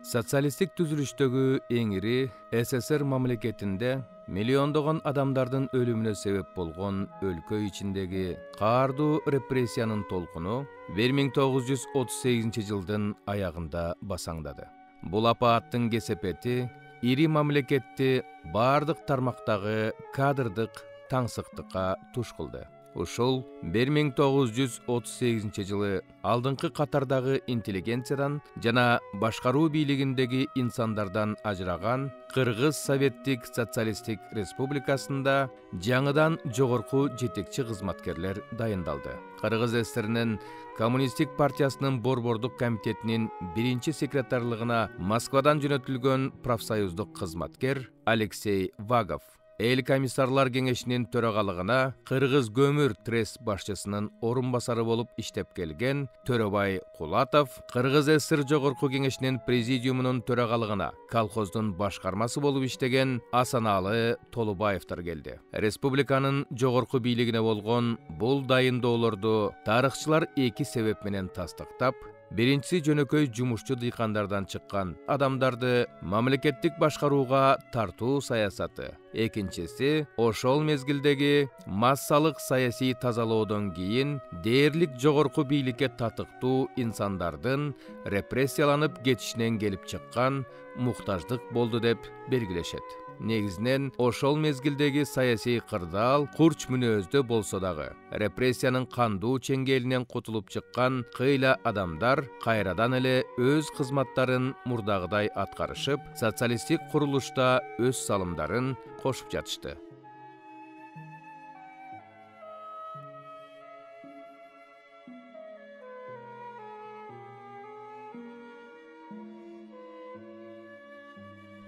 Социалисттик түзүлүштөгү эң ири СССР мамлекетинде миллиондогон адамдардын өлүмүнө себеп болгон өлкө ичиндеги каардуу репрессиянын толкуну 1938 жылдын аягында басаңдады. Бул апааттын кесепети ири мамлекетти бардык тармактагы кадрдык таңсыктыкка туш кылды. Ушул 1938 жылы алдыңкы катардагы интеллигенциядан жана башкаруу бийлигиндеги инсандардан ажыраган Кыргыз Советтик Социалисттик Республикасында жаңыдан жогорку жетекчи кызматкерлер дайындалды. Кыргыз ССРнин Коммунисттик партиясынын борбордук комитетинин биринчи секретарлыгына Москвадан жөнөтүлгөн профсоюздук кызматкер Алексей Вагов, Эл комиссарлар кеңешинин төрагалыгына Кыргыз көмүр трест башчысынын орун басары болуп иштеп келген Төрөбай Кулатов, Кыргыз ССР жогорку кеңешинин президиумунун төрагалыгына колхоздун башкармасы болуп иштеген Асаналы Толубаевдер келди. Республиканын жогорку бийлигине болгон бул дайындоолорду тарыхчылар эки себеп менен тастыктап, биринчиси жөнөкөй жумушчу дыйкандардан чыккан адамдарды мамлекеттик башкарууга тартуу саясаты, экинчиси ошол мезгилдеги массалык саясий тазалоодон кийин дээрлик жогорку бийликке татыктуу инсандардын репрессияланып кетишинен келип чыккан муктаждык болду деп белгилешет. Негизинен ошол мезгилдеги саясий кырдаал курч мүнөздө болсо дагы репрессиянын кандуу чеңгелинен кутулуп чыккан кыйла адамдар кайрадан эле өз кызматтарын мурдагыдай аткарышып, социалисттик курулушта өз салымдарын кошуп жатышты.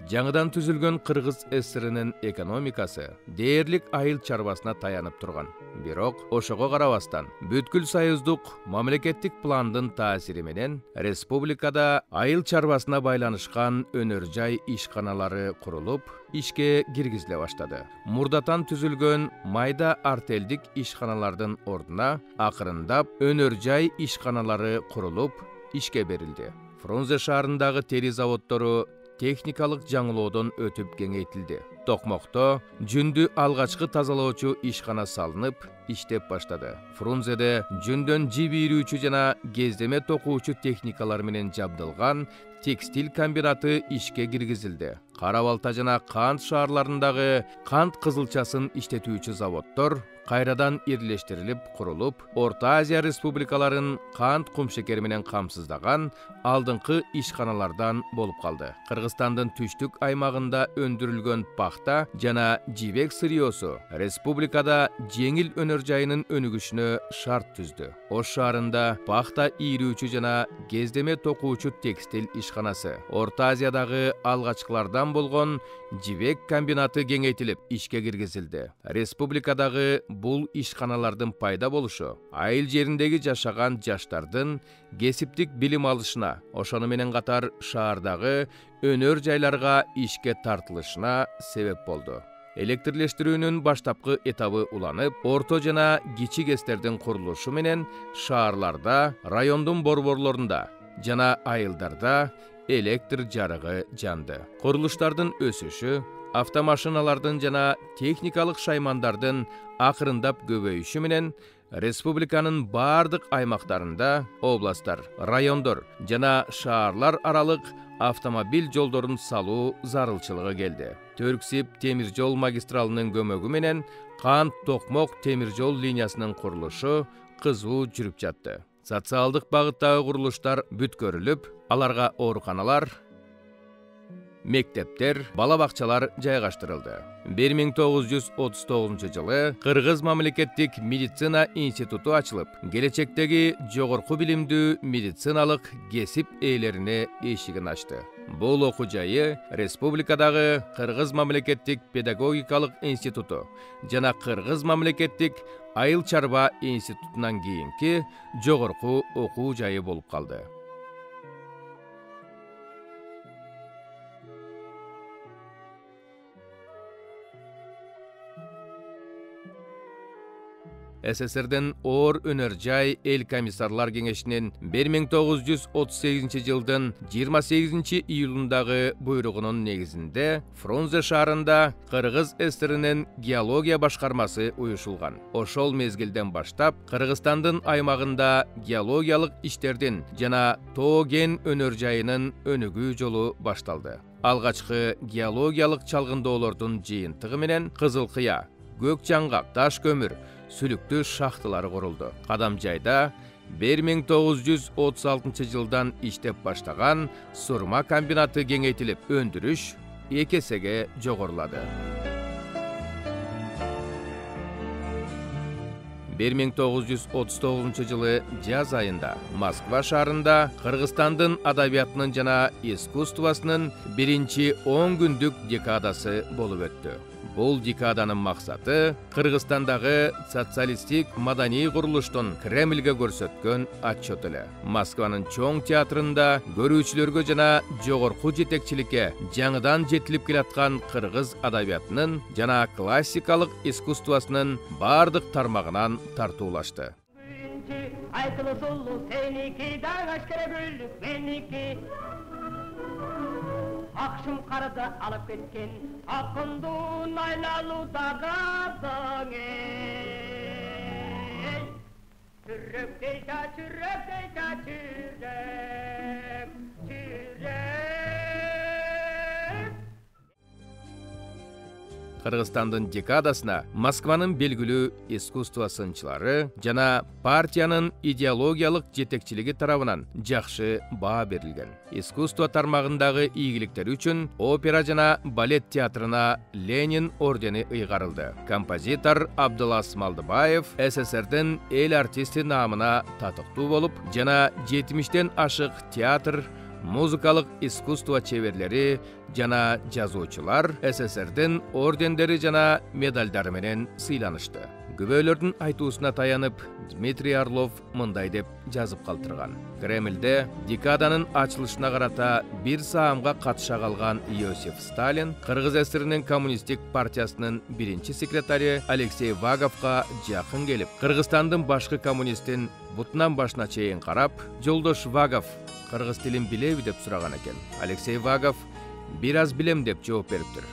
Жаңыдан түзүлгөн Кыргыз ССРнин экономикасы дээрлик айыл чарбасына таянып турган. Бирок ошого карабастан бүткүл союздук мамлекеттик пландын таасири менен республикада айыл чарбасына байланышкан өнөр жай ишканалары курулуп, ишке киргизиле баштады. Мурдатан түзүлгөн майда артелдик ишканалардын ордуна акырындап өнөр жай ишканалары курулуп, ишке берилди. Фрунзе шаарындагы тери заводдору техникалык жаңылоодон өтүп кеңейтилди. Токмокто жүндү алгачкы тазалоочу ишкана салынып, иштеп баштады. Фрунзеде жүндөн жип ийрүүчү жана кездеме токуучу техникалар менен жабдылган текстиль комбинаты ишке киргизилди. Кара Балта жана Кант шаарларындагы кант кызылчасын иштетүүчү заводдор кайрадан ирлештирилип курулуп, Орто Азия республикаларын кант кумшекери менен камсыздаган алдыңкы ишканалардан болуп калды. Кыргызстандын түштүк аймагында өндүрүлгөн пахта жана жибек сырьёсу республикада жеңил өнөр жайынын өнүгүшүнө шарт түздү. Ош шаарында пахта ийрүүчү жана кездеме токуучу текстиль ишканасы, Орто Азиядагы алгачкылардан болгон жибек комбинаты кеңейтилип, ишке киргизилди. Республикадагы бул ишканалардын пайда болушу айыл жериндеги жашаган жаштардын кесиптик билим алышына, ошону менен катар шаардагы өнөр жайларга ишке тартылышына себеп болду. Электрлештирүүнүн баштапкы этабы уланып, орто жана кичик эстердин курулушу менен шаарларда, райондун борборлорунда жана айылдарда электр жарыгы жанды. Курулуштардын өсүшү, автомашиналардын жана техникалык шаймандардын акырындап көбөйүшү менен республиканын бардык аймактарында областтар, райондор жана шаарлар аралык автомобиль жолдорун салуу зарылчылыгы келди. Түрксиб темир жол магистралынын көмөгү менен Кант-Токмок темир жол линиясынын курулушу кызуу жүрүп жатты. Социалдык багыттагы курулуштар бүткөрүлүп, аларга ооруканалар, мектептер, бала бакчалар жайгаштырылды. 1939 жылы Кыргыз мамлекеттик медицина институту ачылып, келечектеги жогорку билимдүү медициналык кесип ээлерине эшигин ачты. Бул окуу жайы республикадагы Кыргыз мамлекеттик педагогикалык институту жана Кыргыз мамлекеттик айыл чарба институтунан кийинки жогорку окуу жайы болуп калды. СССРдин оор өнөр жай эл комиссарлар кеңешинин 1938 жылдын 28 июлундагы буйругунун негизинде Фрунзе шаарында Кыргыз ССРинин геология башкармасы уюшулган. Ошол мезгилден баштап Кыргызстандын аймагында геологиялык иштердин жана тоо кен өнөр жайынын өнүгүү жолу башталды. Алгачкы геологиялык чалгындоолордун жыйынтыгы менен Кызыл Кыя, Көк Жаңгак, Таш көмүр, сүлүктүү шахталары курулду. Кадамжайда 1936 жылдан иштеп баштаган сурма комбинаты кеңейтилип, өндүрүш 2 эсеге жогорулады. 1939 жылы жаз айында Москва шаарында Кыргызстандын адабиятынын жана искусствосунун биринчи 10 күндүк декадасы болуп өттү. Бул декаданын максаты Кыргызстандагы социалисттик маданий курулуштун Кремльге көрсөткөн отчет эле. Москванын чоң театрында көрүүчүлөргө жана жогорку жетекчиликке жаңыдан жетилип келаткан кыргыз адабиятынын жана классикалык искусствосунун бардык тармагынан тартуулашты. Акшым карды алып кеткен акындын айлалуудагы даңы. Чүрөктей да чүрөк, чүрөк. Кыргызстандын декадасына Москванын белгилүү искусство сынчылары жана партиянын идеологиялык жетекчилиги тарабынан жакшы баа берилген. Искусство тармагындагы ийгиликтери үчүн опера жана балет театрына Ленин ордени ыйгарылды. Композитор Абдулас Малдыбаев СССРдин эл артисти наамына татыктуу болуп, жана 70тен ашык театр, музыкалык искусство чеберлери жана жазуучулар СССРдин ордендери жана медалдары менен сыйланышты. Күбөлөрдүн айтуусуна таянып, Дмитрий Орлов мындай деп жазып калтырган. Кремльде декаданын ачылышына карата бир саамга катыша калган Иосиф Сталин Кыргыз СССРинин коммунисттик партиясынын биринчи секретари Алексей Ваговго жакын келип, Кыргызстандын башкы коммунистин бутунан башына чейин карап, "Жолдош Вагов, кыргыз тилин билеби?" деп сураган экен. Алексей Вагов "Бир аз билем" деп жооп бериптир.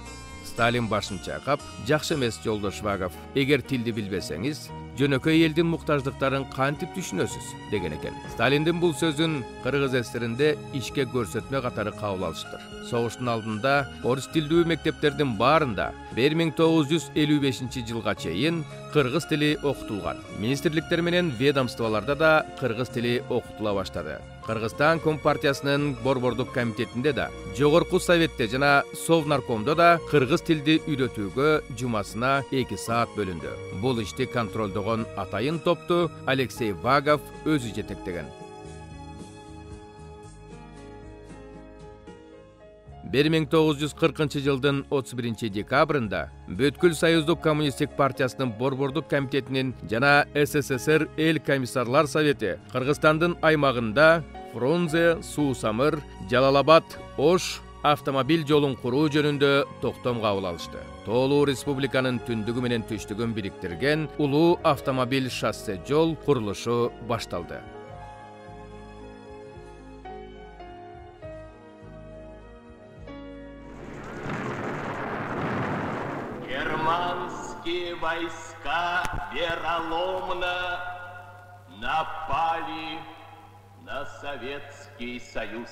Сталин башын чайкап, "Жакшы эмес, жолдош Вагов. Эгер тилди билбесеңиз, жөнөкөй элдин муктаждыктарын кантип түшүнөсүз" деген экен. Сталиндин бул сөзүн Кыргыз СССРинде ишке көрсөтмө катары кабыл алыштыр. Согуштун алдында орус тилдүү мектептердин баарында 1955 жылга чейин кыргыз тили окутулган. Министрликтер менен ведомстволордо да кыргыз тили окутула баштады. Кыргызстан Компартиясынын борбордук комитетинде да, жогорку советте жана Совнаркомдо да кыргыз тилди үйрөтүүгө жумасына 2 саат бөлүндү. Бул ишти контролдогон атайын топту Алексей Вагов өзү жетектеген. 1940 жылдын 31 декабрында Бүткүл Союздук коммунисттик партиясынын борбордук комитетинин жана СССР эл комиссарлар совети Кыргызстандын аймагында Фрунзе, Суу-Самыр, Жалал-Абад, Ош автомобиль жолун куруу жөнүндө токтом кабыл алышты. Тоолуу республиканын түндүгү менен түштүгүн бириктирген улуу автомобиль шоссе жол курулушу башталды. Германские войска вероломно напали на Советский Союз.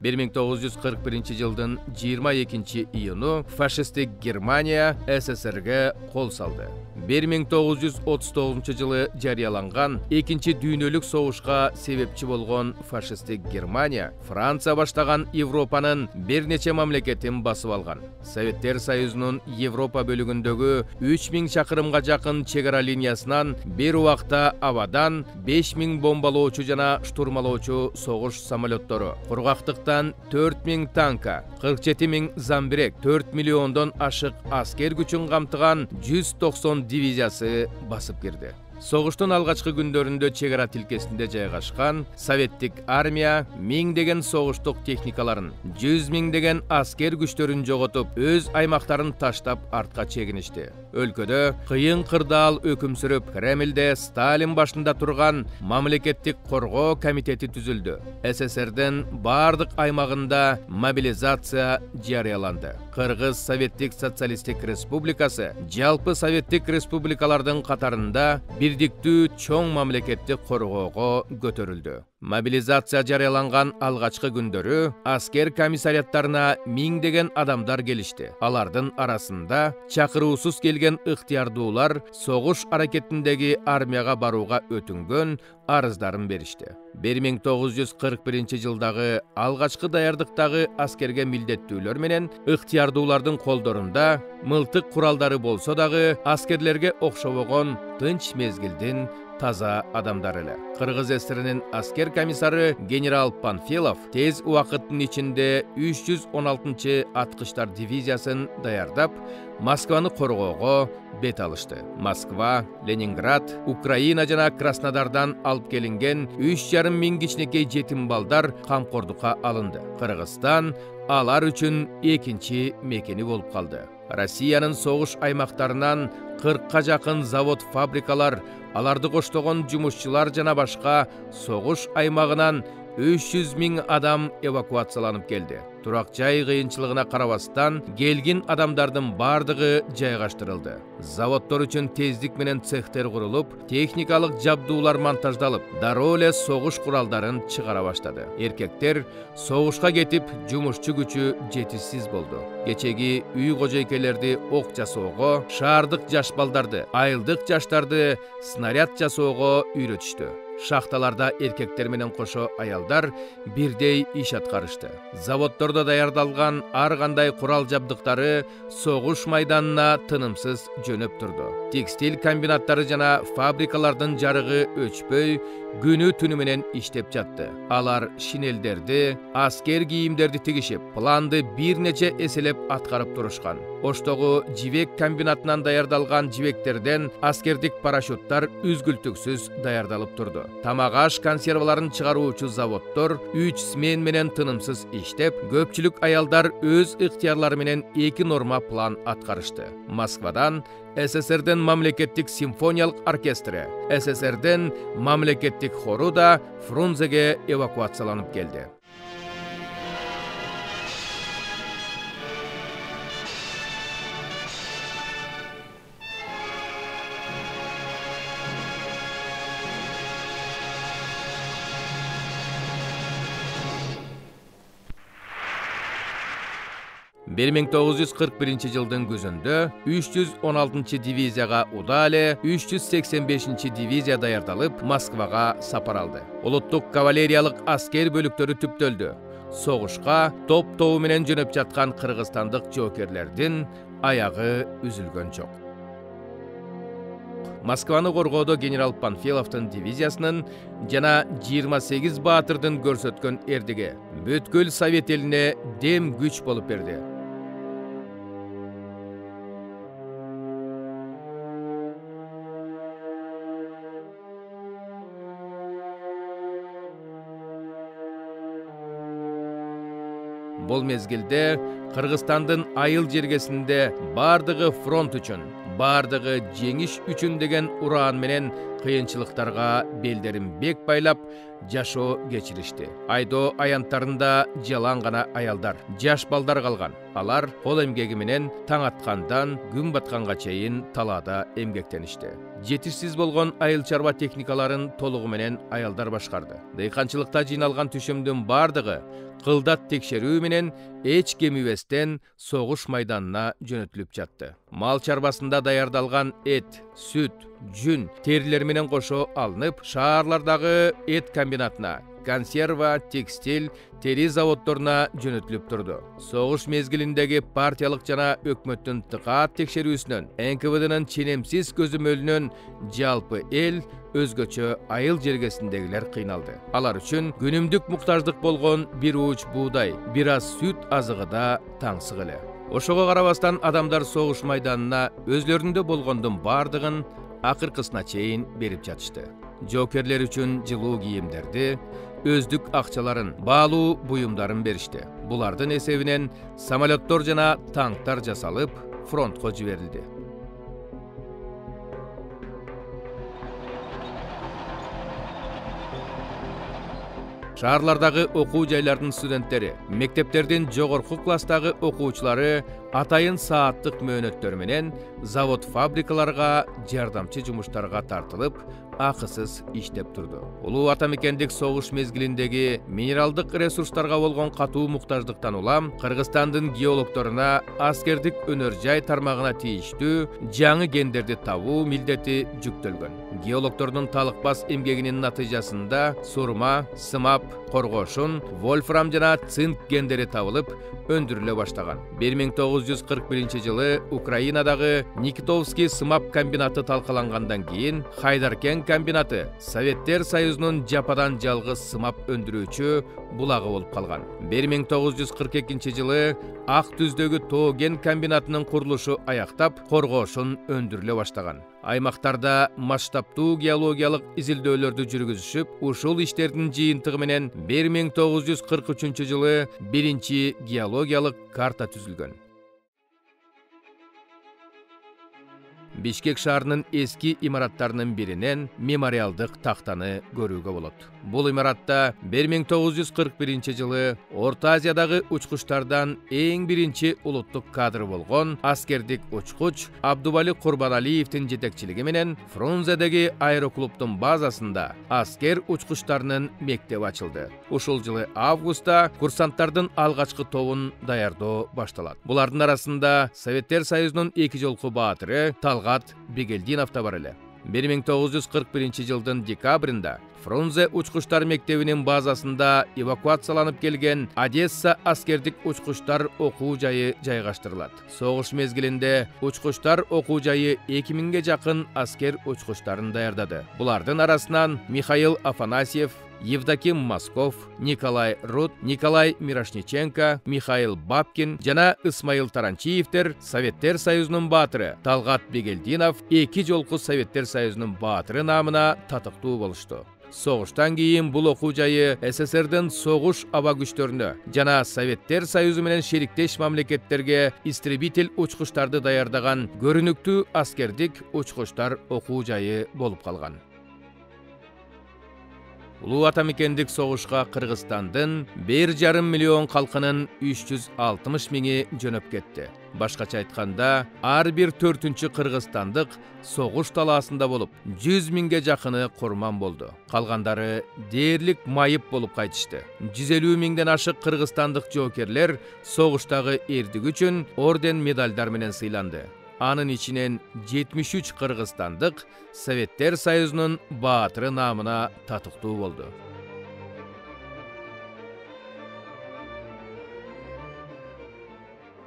1941 жылдын 22 июну фашисттик Германия СССРге кол салды. 1939 жылы жарыяланган 2-чи дүйнөлүк согушка себепчи болгон фашисттик Германия Франция баштаган Европанын бир нече мамлекетин басып алган. Советтер Союзунун Европа бөлүгүндөгү 3000 чакырымга жакын чек ара линиясынан бир убакта абадан 5000 бомбалоочу жана штурмалоочу согуш самолеттору, кургактыктан 4000 танка, 47000 замбирек, 4 миллиондон ашык аскер күчүн камтыган 190 дивизиясы басып кирди. Согуштун алгачкы күндөрүндө чек ара тилкесинде жайгашкан советтик армия миңдеген согуштук техникаларын, 100 миңдеген аскер күчтөрүн жоготуп, өз аймактарын таштап артка чегиништи. Өлкөдө кыйын кырдаал өкүм сүрүп, Кремлде Сталин башында турган мамлекеттик коргоо комитети түзүлдү. СССРдин бардык аймагында мобилизация жарыяланды. Кыргыз Советтик Социалисттик Республикасы жалпы советтик республикалардын катарында бирдиктүү чоң мамлекеттик коргоого көтөрүлдү. Мобилизация жарыяланган алгачкы күндөрү аскер комиссариаттарына миңдеген адамдар келишти. Алардын арасында чакыруусуз келген ыктыярдуулар согуш аракетиндеги армияга барууга өтүнгөн арыздарын беришти. 1941 жылдагы алгачкы даярдыктагы аскерге милдеттүүлөр менен ыктыярдуулардын колдорунда мылтык куралдары болсо дагы аскерлерге окшобогон тынч мезгилдин таза адамдар эле. Кыргыз ССРинин аскер комиссары генерал Панфилов тез убакыттын ичинде 316 аткычтар дивизиясын даярдап, Москваны коргоого бет алышты. Москва, Ленинград, Украина жана Краснодардан алып келинген 3,5 миң кичинекей жетим балдар камкордукка алынды. Кыргызстан алар үчүн экинчи мекени болуп калды. Россиянын согуш аймактарынан 40ка жакын завод, фабрикалар, аларды коштогон жумушчулар жана башка согуш аймагынан 300 миң адам эвакуацияланып келди. Турак жай кыйынчылыгына карабастан, келгин адамдардын бардыгы жайгаштырылды. Заводдор үчүн тездик менен цехтер курулуп, техникалык жабдуулар монтаждалып, дароо эле согуш куралдарын чыгара баштады. Эркектер согушка кетип, жумушчу күчү жетишсиз болду. Кечеги үй кожойкелерди ок жасоого, шаардык жаш балдарды, айылдык жаштарды снаряд жасоого үйрөтүштү. Шахталарда эркектер менен кошо аялдар бирдей иш аткарышты. Заводдордо даярдалган ар кандай курал жабдыктары согуш майданына тынымсыз жөнөп турду. Текстиль комбинаттары жана фабрикалардын жарыгы өчпөй, күнү түнү менен иштеп жатты. Алар шинелдерди, аскер кийимдерди тигишип, планды бир нече эселеп аткарып турушкан. Оштогу жибек комбинатынан даярдалган жибектерден аскердик парашюттар үзгүлтүксүз даярдалып турду. Тамак-аш консерваларын чыгаруучу заводдор 3 смен менен тынымсыз иштеп, көпчүлүк аялдар өз ыктыярлары менен 2 норма план аткарышты. Москвадан СССРдин мамлекеттик симфониялык оркестри, СССРдин мамлекеттик хору да Фрунзеге эвакуацияланып келди. Бир 1941 жылдын күзүндө 316 дивизияга удале 385 дивизия даярдалып, Москвага сапар алды. Улуттук кавалериялык аскер бөлүктөрү түптөлдү. Согушка топ-тобу менен жөнөп жаткан кыргызстандык жоокерлердин аягы үзүлгөн жок. Москваны коргоодо генерал Панфиловдун дивизиясынын жана 28 баатырдын көрсөткөн эрдиги бүткүл Совет элине дем күч болуп берди. Бул мезгилде Кыргызстандын айыл жергесинде бардыгы фронт үчүн, бардыгы жеңиш үчүн деген ураан менен кыйынчылыктарга белдерин бек байлап жашоо кечиришти. Айдоо аянттарында жалаң гана аялдар, жаш балдар калган. Алар кол эмгеги менен таң аткандан күн батканга чейин талаада эмгектеништи. Жетишсиз болгон айыл чарба техникаларын толугу менен аялдар башкарды. Дыйканчылыкта жыйналган түшүмдүн бардыгы кылдат текшерүү менен эч кемибестен согуш майданына жөнөтүлүп жатты. Мал чарбасында даярдалган эт, сүт, жүн, терилер менен кошо алынып, шаарлардагы эт комбинатына, консерва, текстиль, тери заводдоруна жөнөтүлүп турду. Согуш мезгилиндеги партиялык жана өкмөттүн тыкаат текшерүүсүнөн, НКВДнын ченемсиз көзөмөлүнөн жалпы эл, өзгөчө айыл жергесиндегилер кыйналды. Алар үчүн күнүмдүк муктаждык болгон бир ууч буудай, бир аз сүт азыгы да таңсык эле. Ошого карабастан адамдар согуш майданына өзлөрүндө болгондун бардыгын акыркысына чейин берип жатышты. Жоокерлер үчүн жылуу кийимдерди, өздүк акчаларын, баалуу буюмдарын беришти. Булардын эсебинен самолеттор жана танктар жасалып, фронтко жиберилди. Шаарлардагы окуу жайлардын студенттери, мектептердин жогорку класстагы окуучулары атайын сааттык мөөнөттөр менен завод-фабрикаларга жардамчы жумуштарга тартылып, акысыз иштеп турду. Улуу ата мекендик согуш мезгилиндеги минералдык ресурстарга болгон катуу муктаждыктан улам Кыргызстандын геологторуна аскердик өнөр жай тармагына тийиштүү жаңы кендерди табуу милдети жүктөлгөн. Геологтордун талыкпас эмгегинин натыйжасында сурма, сымап, коргошун, вольфрам жана цинк кендери табылып, өндүрүлө баштаган. 1941-жылы Украинадагы Никитовский сымап комбинаты талкалангандан кийин Хайдаркен комбинаты Советтер Союзунун жападан жалгыз сымап өндүрүүчү булагы болуп калган. 1942-жылы Ак Түздөгү тоо кен комбинатынын курулушу аяктап, коргошун өндүрүлө баштаган. Аймактарда масштабтуу геологиялык изилдөөлөрдү жүргүзүшүп, ушул иштердин жыйынтыгы менен 1943-жылы биринчи геологиялык карта түзүлгөн. Бишкек шаарынын эски имараттарынын биринен мемориалдык тактаны көрүүгө болот. Бул имаратта 1941-жылы Орто Азиядагы учкучтардан эң биринчи улуттук кадр болгон аскердик учкуч Абдубали Курбаналиевдин жетекчилиги менен Фрунзедеги аэроклубдун базасында аскер учкучтарынын мектеби ачылды. Ушул жылы августта курсанттардын алгачкы тобун даярдоо башталат. Булардын арасында Советтер Союзунун эки жолку баатыры Талгат Бегелдинов да бар эле. 1941-жылдын декабрында Фрунзе учкучтар мектебинин базасында эвакуацияланып келген Одесса аскердик учкучтар окуу жайы жайгаштырылат. Согуш мезгилинде учкучтар окуу жайы 2000ге жакын аскер учкучтарын даярдады. Булардын арасынан Михаил Афанасьев, Евдоким Москов, Николай Рут, Николай Мирошниченко, Михаил Бабкин жана Исмаил Таранчиевтер Советтер Союзунун баатыры Талгат Бегелдинов эки жолку Советтер Союзунун баатыры намына татыктуу болушту. Согуштан кийин бул окуу жайы СССРдин согуш аба күчтөрүнө жана Советтер Союзу менен шериктеш мамлекеттерге истребитель учкучтарды даярдаган көрүнүктүү аскердик учкучтар окуу жайы болуп калган. Улуу ата мекендик согушка Кыргызстандын 1,5 миллион калкынын 360 миңи жөнөп кетти. Башкача айтканда, ар бир 4-чү кыргызстандык согуш талаасында болуп, 100 миңге жакыны курман болду. Калгандары дээрлик майып болуп кайтышты. 150 миңден ашык кыргызстандык жоокерлер согуштагы эрдиги үчүн орден медалдар менен сыйланды. Анын ичинен 73 кыргызстандык Советтер Союзунун баатыры намына татыктуу болду.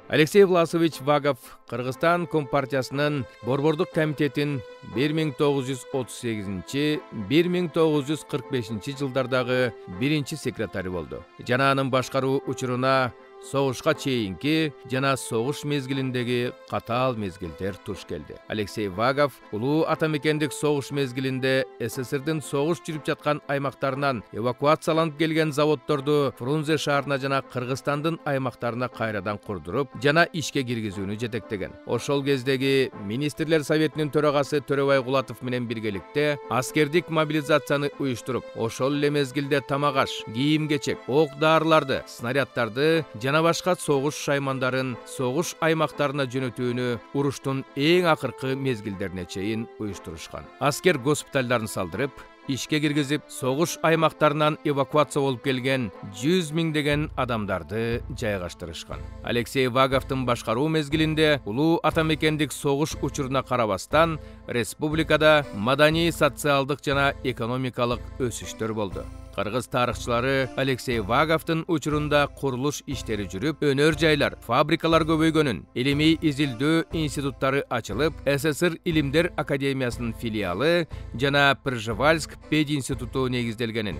Алексей Власович Вагов Кыргызстан Компартиясынын Борбордук комитетин 1938-1945 жылдардагы биринчи секретары болду. Жана анын башкаруу учуруна согушка чейинки жана согуш мезгилиндеги катаал мезгилдер туш келди. Алексей Вагов улуу ата мекендик согуш мезгилинде СССРдин согуш жүрүп жаткан аймактарынан эвакуацияланып келген заводдорду Фрунзе шаарына жана Кыргызстандын аймактарына кайрадан курдуруп жана ишке киргизүүнү жетектеген. Ошол кездеги министрлер советинин төрагасы Төрөбай Кулатов менен биргеликте аскердик мобилизацияны уюштуруп, ошол эле мезгилде тамак-аш, кийим-кечек, ок-дарыларды, снаряддарды жана башка согуш шаймандарын согуш аймактарына жөнөтүүнү уруштун эң акыркы мезгилдерине чейин уюштурушкан. Аскер госпиталдарын салдырып, ишке киргизип, согуш аймактарынан эвакуация болуп келген 100 миңдеген адамдарды жайгаштырышкан. Алексей Ваговдун башкаруу мезгилинде улуу ата мекендик согуш учуруна карабастан республикада маданий, социалдык жана экономикалык өсүштөр болду. Кыргыз тарыхчылары Алексей Ваговдун учурунда курулуш иштери жүрүп, өнөр жайлар, фабрикалар көбөйгөнүн, илимий изилдөө институттары ачылып, СССР Илимдер академиясынын филиалы жана Пржевальск пединституту негизделгенин,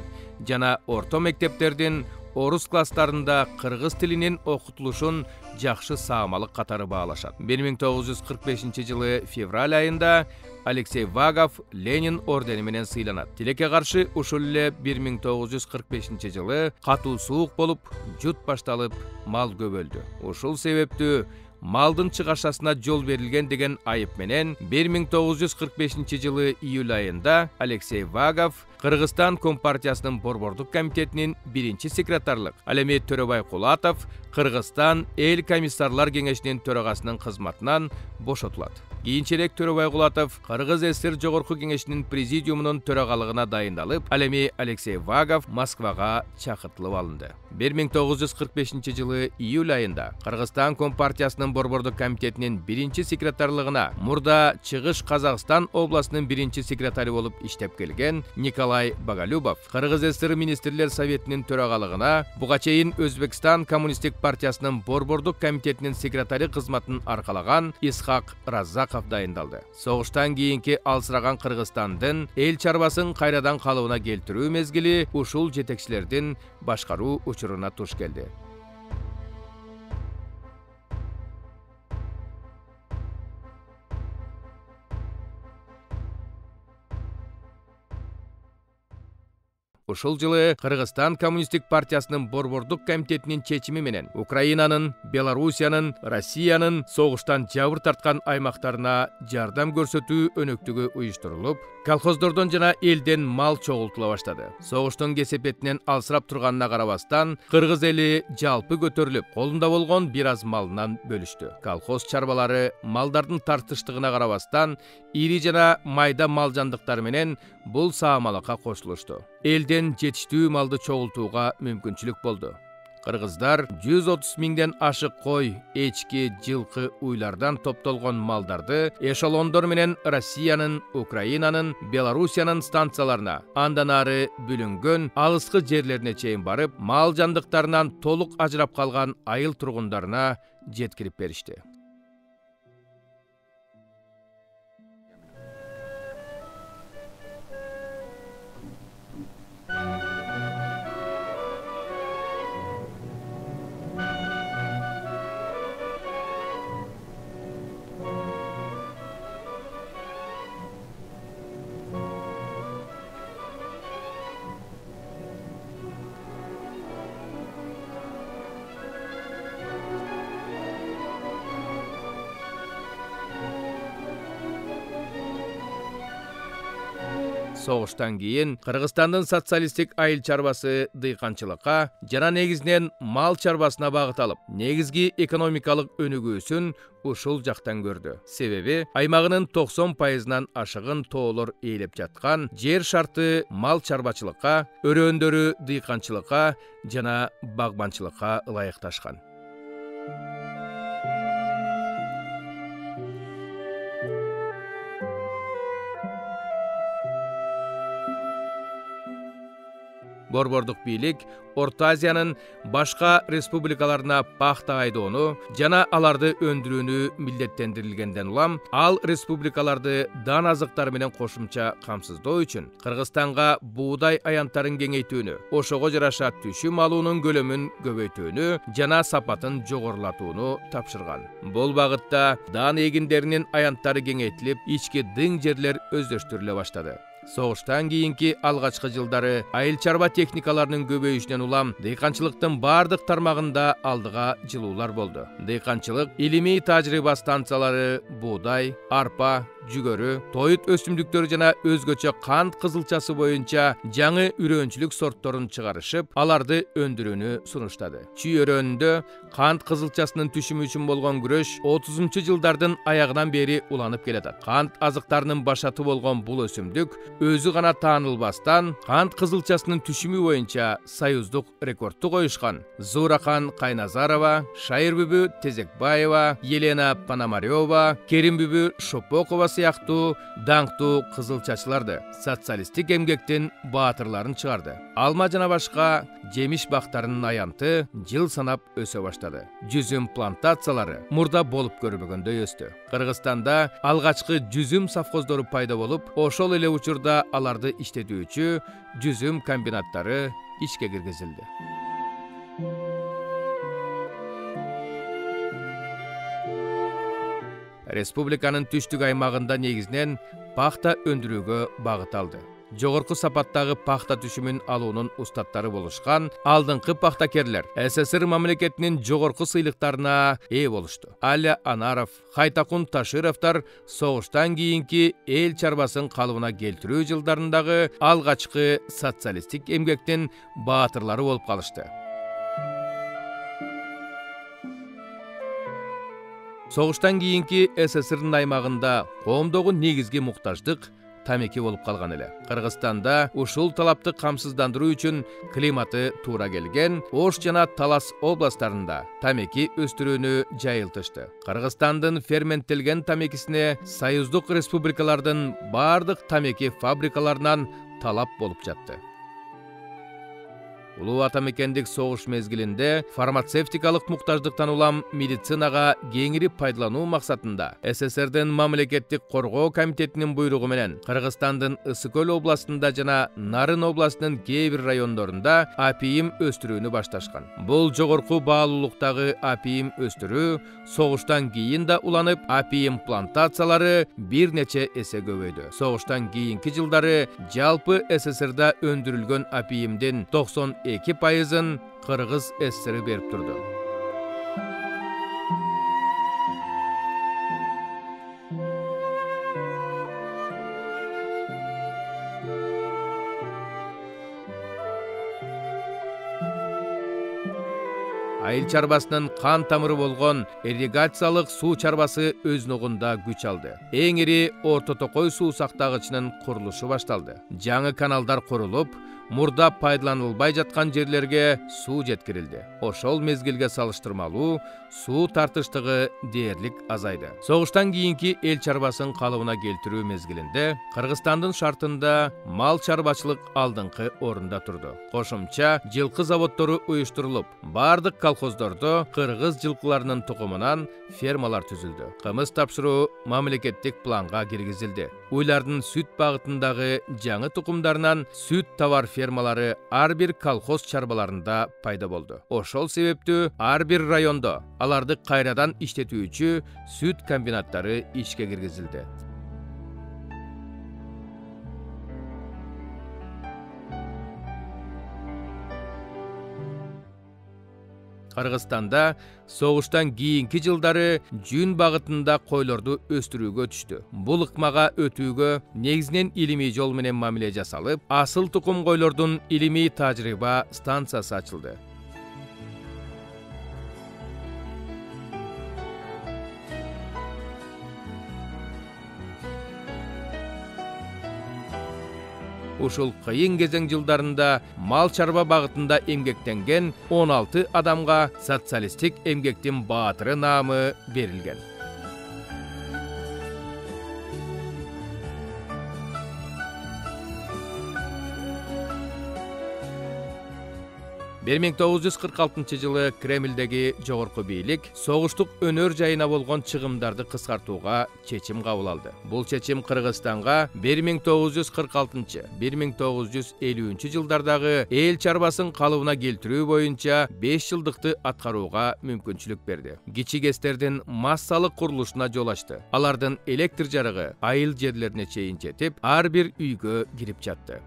жана орто мектептердин орус класстарында кыргыз тилинин окутулушун жакшы саамалык катары баалашат. 1945-жылы февраль айында Алексей Вагов Ленин ордени менен сыйланат. Тилекке каршы ушул эле 1945-жылы катуу суук болуп, жут башталып, мал көбөлдү. Ушул себептүү малдын чыгашасына жол берилген деген айып менен 1945-жылы июль айында Алексей Вагов Кыргызстан Компартиясынын борбордук комитетинин 1-секретарлык, ал эми Төрөбай Кулатов Кыргызстан эл комиссарлар кеңешинин төрагасынын кызматынан бошотулат. Кийинчерээк Төрөбай Кулатов Кыргыз ССР Жогорку кеңешинин президиумунун төрагалыгына дайындалып, ал эми Алексей Вагов Москвага чакыртылып алынды. 1945-жылы июль айында Кыргызстан Компартиясынын борбордук комитетинин 1-секретарлыгына мурда Чыгыш Казакстан областынын 1-секретары болуп иштеп келген Николай Боголюбов Кыргыз ССР министрлер советинин төрагалыгына, буга чейин Өзбекстан Коммунисттик партиясынын борбордук комитетинин секретары кызматын аркалаган Исхак Раззаков дайындалды. Согуштан кийинки алсыраган Кыргызстандын эл чарбасын кайрадан калыбына келтирүү мезгили ушул жетекчилердин башкаруу учуруна туш келди. Ушул жылы Кыргызстан Коммунисттик партиясынын борбордук комитетинин чечими менен Украинанын, Белоруссиянын, Россиянын согуштан жабыр тарткан аймактарына жардам көрсөтүү өнөктүгү уюштурулуп, колхоздордон жана элден мал чогултула баштады. Согуштун кесепетинен алсырап турганына карабастан, кыргыз эли жалпы көтөрүлүп, колунда болгон бир аз малынан бөлүштү. Колхоз чарбалары малдардын тартыштыгына карабастан, ири жана майда мал жандыктары менен бул саамалыкка кошулушту. Элден жетиштүү малды чогултууга мүмкүнчүлүк болду. Кыргыздар 130 миңден ашык кой, эчки, жылкы, уйлардан топтолгон малдарды эшелондор менен Россиянын, Украинанын, Белоруссиянын станцияларына, андан ары бүлүнгөн алыскы жерлерине чейин барып, мал жандыктарынан толук ажырап калган айыл тургундарына жеткирип беришти. Согуштан кийин Кыргызстандын социалисттик айыл чарбасы дыйканчылыкка жана негизинен мал чарбасына багыт алып, негизги экономикалык өнүгүүсүн ушул жактан көрдү. Себеби аймагынын 90%-нан ашыгын тоолор ээлеп жаткан жер шарты мал чарбачылыкка, өрөөндөрү дыйканчылыкка жана багбанчылыкка ылайыкташкан. Борбордук бийлик Орто Азиянын башка республикаларына пахта айдоону жана аларды өндүрүүнү милдеттендирилгенден улам, ал республикаларды дан азыктары менен кошумча камсыздоо үчүн Кыргызстанга буудай аянттарын кеңейтүүнү, ошого жараша түшүм алуунун көлөмүн көбөйтүүнү жана сапатын жогорулатууну тапшырган. Бул багытта дан эгиндеринин аянттары кеңейтилип, ички дың жерлер өздөштүрүлө баштады. Согуштан кийинки алгачкы жылдары айыл чарба техникаларынын көбөйүшүнөн улам дыйканчылыктын бардык тармагында алдыга жылуулар болду. Дыйканчылык илимий тажрыйба станциялары буудай, арпа, жүгөрү, тоют өсүмдүктөрү жана өзгөчө кант кызылчасы боюнча жаңы үрөөнчүлүк сортторун чыгарышып, аларды өндүрүүнү сунуштады. Чүй өрөөнүндө кант кызылчасынын түшүмү үчүн болгон күрөш 30-жылдардын аягынан бери уланып келатат. Кант азыктарынын башаты болгон бул өсүмдүк өзү гана таанылбастан, кант кызылчасынын түшүмү боюнча союздук рекордту коюшкан Зурахан Кайназарова, Шайыр бүбү Тезекбаева, Елена Пономарева, Керим бүбү Шопокова сыяктуу даңктуу кызылчачыларды, социалисттик эмгектин баатырларын чыгарды. Алма жана башка жемиш бактарынын аянты жыл санап өсө баштады. Жүзүм плантациялары мурда болуп көрбөгөндөй өстү. Кыргызстанда алгачкы жүзүм совхоздору пайда болуп, ошол эле учурда аларды иштетүүчү жүзүм комбинаттары ишке киргизилди. Республиканын түштүк аймагында негизинен пахта өндүрүүгө багыт алды. Жогорку сапаттагы пахта түшүмүн алуунун устаттары болушкан алдыңкы пахтакерлер СССР мамлекетинин жогорку сыйлыктарына ээ болушту. Аля Анаров, Хайтакун Ташировдор согуштан кийинки эл чарбасын калыбына келтирүү жылдарындагы алгачкы социалисттик эмгектин баатырлары болуп калышты. Согуштан кийинки СССРдин аймагында коомдогу негизги муктаждык тамеки болуп калган эле. Кыргызстанда ушул талапты камсыздандыруу үчүн климаты туура келген Ош жана Талас областтарында тамеки өстүрүүнү жайылтышты. Кыргызстандын ферменттелген тамекисине союздук республикалардын бардык тамеки фабрикаларынан талап болуп жатты. Улуу атамекендик согуш мезгилинде фармацевтикалык муктаждыктан улам медицинага кеңири пайдалануу максатында СССРдин мамлекеттик коргоо комитетинин буйругу менен Кыргызстандын Ысык Көл областында жана Нарын областынын кээ бир райондорунда апийим өстүрүүнү башташкан. Бул жогорку баалуулуктагы апийим өстүрүү согуштан кийин да уланып, апийим плантациялары бир нече эсе көбөйдү. Согуштан кийинки жылдары жалпы СССРда өндүрүлгөн апийимдин 92% Кыргыз СССР берип турду. Айыл чарбасынын кан тамыры болгон ирригациялык суу чарбасы өз ногунда күч алды. Эң ири Орто Токой суу сактагычынын курулушу башталды. Жаңы каналдар курулуп, мурда пайдаланылбай жаткан жерлерге суу жеткирилди. Ошол мезгилге салыштырмалуу суу тартыштыгы дээрлик азайды. Согуштан кийинки эл чарбасын калыбына келтирүү мезгилинде Кыргызстандын шартында мал чарбачылык алдыңкы орунда турду. Кошумча жылкы заводдору уюштурулуп, бардык колхоздордо кыргыз жылкыларынын тукумунан фермалар түзүлдү. Кымыз тапшыруу мамлекеттик планга киргизилди. Уйлардын сүт багытындагы жаңы тукумдарынан сүт товар фермалары ар бир колхоз чарбаларында пайда болду. Ошол себептүү ар бир райондо аларды кайрадан иштетүүчү сүт комбинаттары ишке киргизилди. Кыргызстанда согуштан кийинки жылдары жүн багытында койлорду өстүрүүгө түштү. Бул ыкмага өтүүгө негизинен илимий жол менен мамиле жасалып, асыл тукум койлордун илимий тажрыйба станциясы ачылды. Ушул кыйын кезең жылдарында мал чарба багытында эмгектенген 16 адамга социалисттик эмгектин баатыры наамы берилген. 1946 жылы Кремлдеги жогорку бийлик согуштук өнөр жайына болгон чыгымдарды кыскартууга чечим кабыл алды. Бул чечим Кыргызстанга 1946-1950 жылдардагы эл чарбасын калыбына келтирүү боюнча 5 жылдыкты аткарууга мүмкүнчүлүк берди. Кичик эстердин массалык курулушуна жол ачты. Алардын электр жарыгы айыл жерлерине чейин жетип, ар бир үйгө кирип жатты.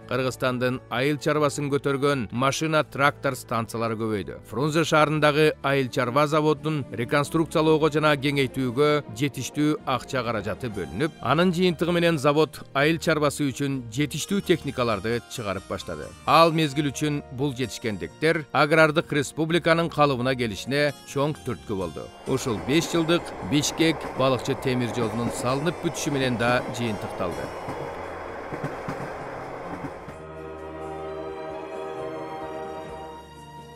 Кыргызстандын айыл чарбасын көтөргөн машина трактор станциялары көбөйдү. Фрунзе шаарындагы айыл чарба заводун реконструкциялоого жана кеңейтүүгө жетиштүү акча каражаты бөлүнүп, анын жыйынтыгы менен завод айыл чарбасы үчүн жетиштүү техникаларды чыгарып баштады. Ал мезгил үчүн бул жетишкендиктер агрардык республиканын калыбына келишине чоң түрткү болду. Ушул 5 жылдык Бишкек балыкчы темир жолунун салынып бүтүшү менен да жыйынтыкталды.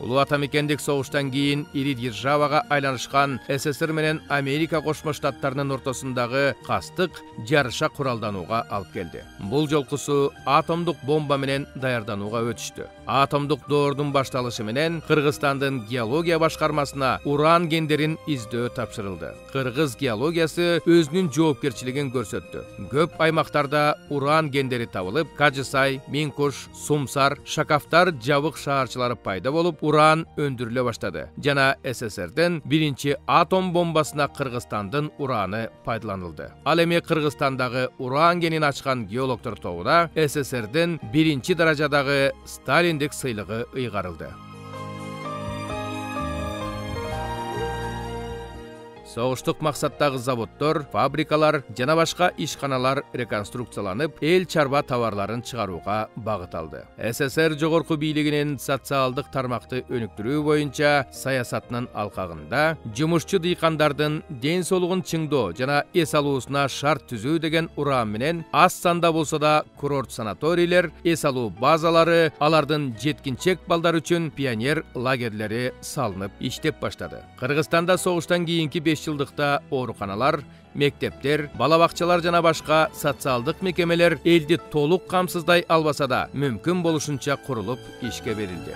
Улуу атамекендик согуштан кийин ири державага айланышкан СССР менен Америка Кошмо Штаттарынын ортосундагы кастык жарыша куралданууга алып келди. Бул жолкусу атомдук бомба менен даярданууга өтүштү. Атомдук доордун башталышы менен Кыргызстандын геология башкармасына уран кендерин издөө тапшырылды. Кыргыз геологиясы өзүнүн жоопкерчилигин көрсөттү. Көп аймактарда уран кендери табылып, Кажысай, Минкуш, Сумсар, Шакафтар жабык шаарчылары пайда болуп, уран өндүрүлө баштады. Жана СССРдин биринчи атом бомбасына Кыргызстандын ураны пайдаланылды. Ал эми Кыргызстандагы уран кенин ачкан геологдор тобуна СССРдин биринчи даражадагы Сталиндик сыйлыгы ыйгарылды. Согуштук максаттагы заводдор, фабрикалар жана башка ишканалар реконструкцияланып, эл чарба товарларын чыгарууга багыт алды. СССР жогорку бийлигинин социалдык тармакты өнүктүрүү боюнча саясатынын алкагында жумушчу дыйкандардын ден соолугун чыңдоо жана эс алуусуна шарт түзүү деген уран менен аз санда болсо да курорт санаторийлер, эс алуу базалары, алардын жеткинчек балдар үчүн пионер лагерлери салынып иштеп баштады. Кыргызстанда согуштан кийинки 5 жылдыкта ооруканалар, мектептер, бала бакчалар жана башка социалдык мекемелер элди толук камсыздай албаса да мүмкүн болушунча курулуп ишке берилди.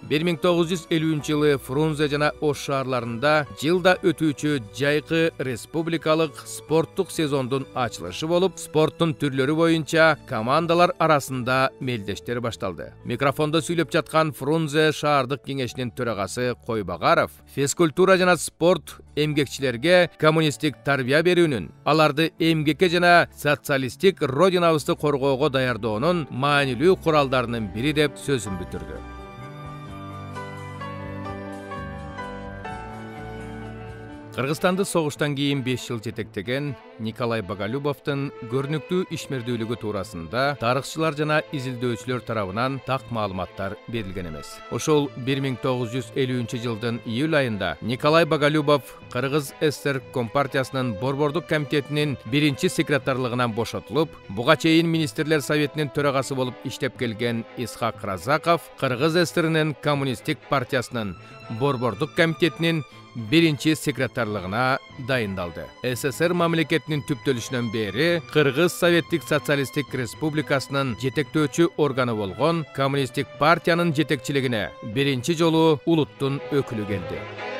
Миң 1950 жылы Фрунзе жана Ош шаарларында жылда өтүүчү жайкы республикалык спорттук сезондун ачылышы болуп, спорттун түрлөрү боюнча командалар арасында мелдештер башталды. Микрофондо сүйлөп жаткан Фрунзе шаардык кеңешинин төрагасы Койбагаров физкультура жана спорт эмгекчилерге коммунисттик тарбия берүүнүн, аларды эмгекке жана социалисттик родинабызды коргоого даярдоонун маанилүү куралдарынын бири деп сөзүн бүтүрдү. Кыргызстанды согуштан кийин 5 жыл жетектеген Николай Боголюбовдун көрүнүктүү ишмердүүлүгү туурасында тарыхчылар жана изилдөөчүлөр тарабынан так маалыматтар берилген эмес. Ошол 1950 жылдын июль айында Николай Боголюбов Кыргыз СССР Компартиясынын Борбордук комитетинин биринчи секретарлыгынан бошотулуп, буга чейин министрлер советинин төрагасы болуп иштеп келген Исхак Разаков Кыргыз СССРинин коммунисттик партиясынын Борбордук комитетинин биринчи секретарлыгына дайындалды. СССР мамлекетинин түптөлүшүнөн бери Кыргыз Советтик Социалисттик Республикасынын жетектөөчү органы болгон Коммунисттик партиянын жетекчилигине биринчи жолу улуттун өкүлү келди.